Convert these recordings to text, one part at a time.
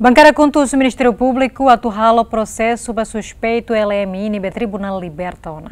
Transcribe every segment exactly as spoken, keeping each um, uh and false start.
Bankada KHUNTO husu Ministériu Públiku atu halo prosesu ba suspeitu L M I ne'ebé Tribunál liberta ona.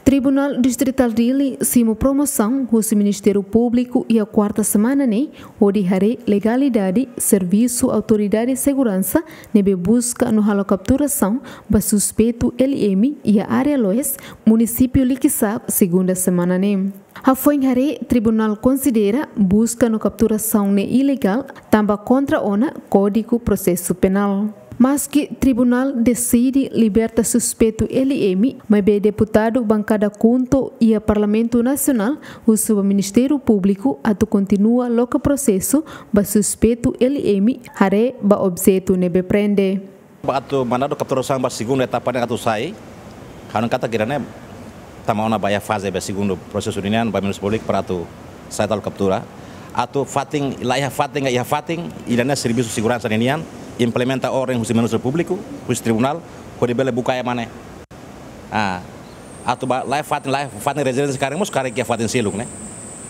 Tribunál Distritál Dili simu promosaun husi Ministériu Públiku iha kuarta semana ne'e, hodi haree legalidade servisu autoridade seguransa ne'ebé buska no halo kapturasaun ba suspeitu L M iha área Loes, munisípiu Likisá, segunda semana ne'e. Hafoin haree, tribunál konsidera buska no kapturasaun ne'e ilegál, tanba kontra ona Kódigu Prosesu Penál. Maski tribunál deside liberta suspeitu L M, maibé deputadu bankada KHUNTO iha Parlamentu Nasionál husu ba Ministériu Públiku atu kontinua loke prosesu ba suspeitu L M, haree ba objetu ne'ebé prende. Atu mandadu kapturasaun ba segundu etapa ne'e atu sai, ha'u hanoin katak ida-ne'e tama ona ba iha faze ba segundu prosesu ninian ba Ministériu Públiku para atu sai halo kaptura. Atu fatin, la iha fatin, iha fatin, ida-ne'e servisu seguransa ninian, implementa orden husi Ministériu Públiku, husi tribunál, hodi bele buka ema ne'e. Ah, atu ba, la iha fatin, la iha fatin rezidénsia karik mós, karik iha fatin seluk ne'e.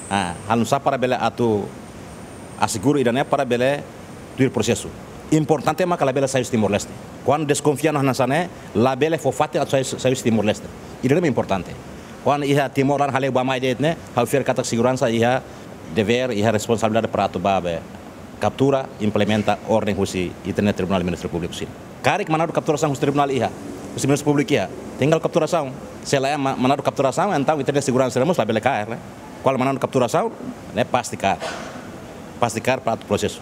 Ah, halo nu'usá para bele atu asegura ida-ne'e para bele tuir prosesu. Importante mak labele sai husi Timor-Leste. Kuandu deskonfia no hanesan ne'e, labele fó fatin atu sai, sai husi Timor-Leste. Ida-ne'e importante. Kuandu iha Timor laran hale'u bá-mai de'it ne'e, ha'u fiar katak seguransa iha devér, iha responsabilidade para atu bá be kaptura, implementa orden husi ita-nia Tribunál Ministériu Públiku sira. Karik mandadu kapturasaun husi tribunál iha, husi Ministériu Públiku iha, tinggal kapturasaun. Se la iha ma-, mandadu kapturasaun, entaun ita-nia seguransa mós labele kaer, ne'e. Kuandu mandadu kapturasaun, ne'e pasti kaer. Pasti kaer para atu prosesu.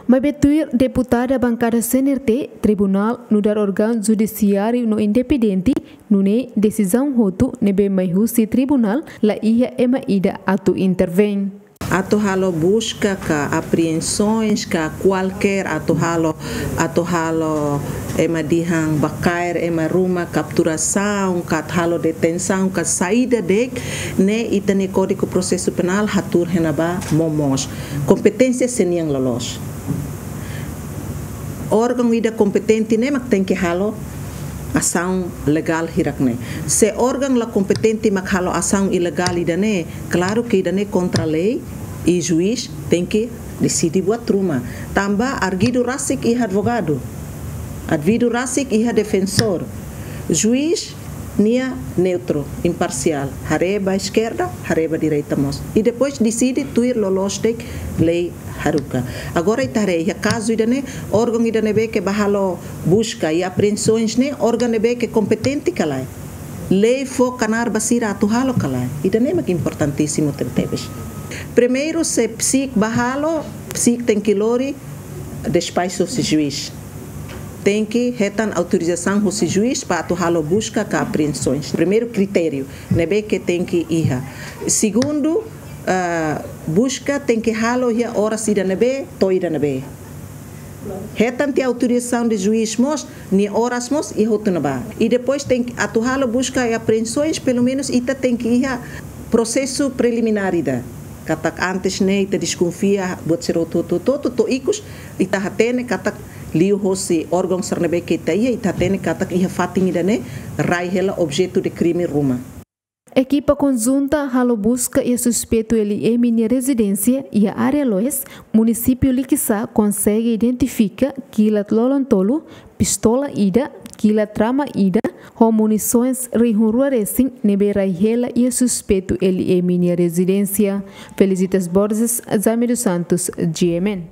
Maibé tuir deputada bankada C N R T, tribunál nu'udar órgaun judisiáriu no independente, nune'e desizaun hotu ne'ebé mai husi tribunál la iha ema ida atu intervein. Atu halo buska ka apreensoens ka kualkér atu halo, atu halo ema dehan bá kaer ema ruma, kapturasaun ka atu halo detensaun ka saida de'it, ne'e ita-nia Kódigu Prosesu Penál hatuur iha ne'ebá momoos. Kompeténsia sei nian loloos. Órgaun ida kompetente ne'e mak tenke halo asaun legál hirak ne'e. Se órgaun la kompetente mak halo asaun ilegál ida-ne'e, klaru ke ida-ne'e kontra lei, i juís tenke deside buat ruma. Tanba arguidu rasik iha advogadu, arguidu rasik iha defensór. Juís nia neutru, imparsiál, haree ba eskerda, haree ba direita mós. I depois deside tuir loloos de'it lei haruka. Agora ita haree iha kazu ida-ne'e, órgaun ida ne'ebé ke bá halo buska i apreensoens ne'e, órgaun ne'ebé ke kompetente ka lae? Lei fó knaar ba sira atu halo ka lae? Ida-ne'e mak importantísimu tebetebes. Primeiru, se PCIC bá halo, PCIC tenke lori despaxu husi juís. Tenke hetan autorizasaun husi juís para atu halo buska ka apreensoens. Primeiru kritériu ne'ebé ke tenke iha. Segundu, ah, buska tenke halo iha oras ida ne'ebé, to'o ida ne'ebé. Hetan tiha autorizasaun de juís mós, nia oras mós, iha hotu ne'ebá. I depois tenke, atu halo buska i apreensoens, pelumenus ita tenke iha prosesu preliminár ida. Katak antes ne'e ita deskonfia buat sira hotu-hotu, to'o ikus ita hatene katak liuhosi órgaun sira ne'ebé ke ita iha, ita hatene katak iha fatin ida-ne'e rai hela objetu de krime ruma. Ekipa konjunta halo buska iha suspeitu L M nia rezidénsia iha área Loes, munisípiu Likisá, konsege identifika kilat lolon tolu, pistola ida, kilat rama ida, ho munisoens rihun rua resin ne'ebé rai hela iha suspeitu L M nia rezidénsia. Felicitas Borges, Jaime dos Santos, G M N.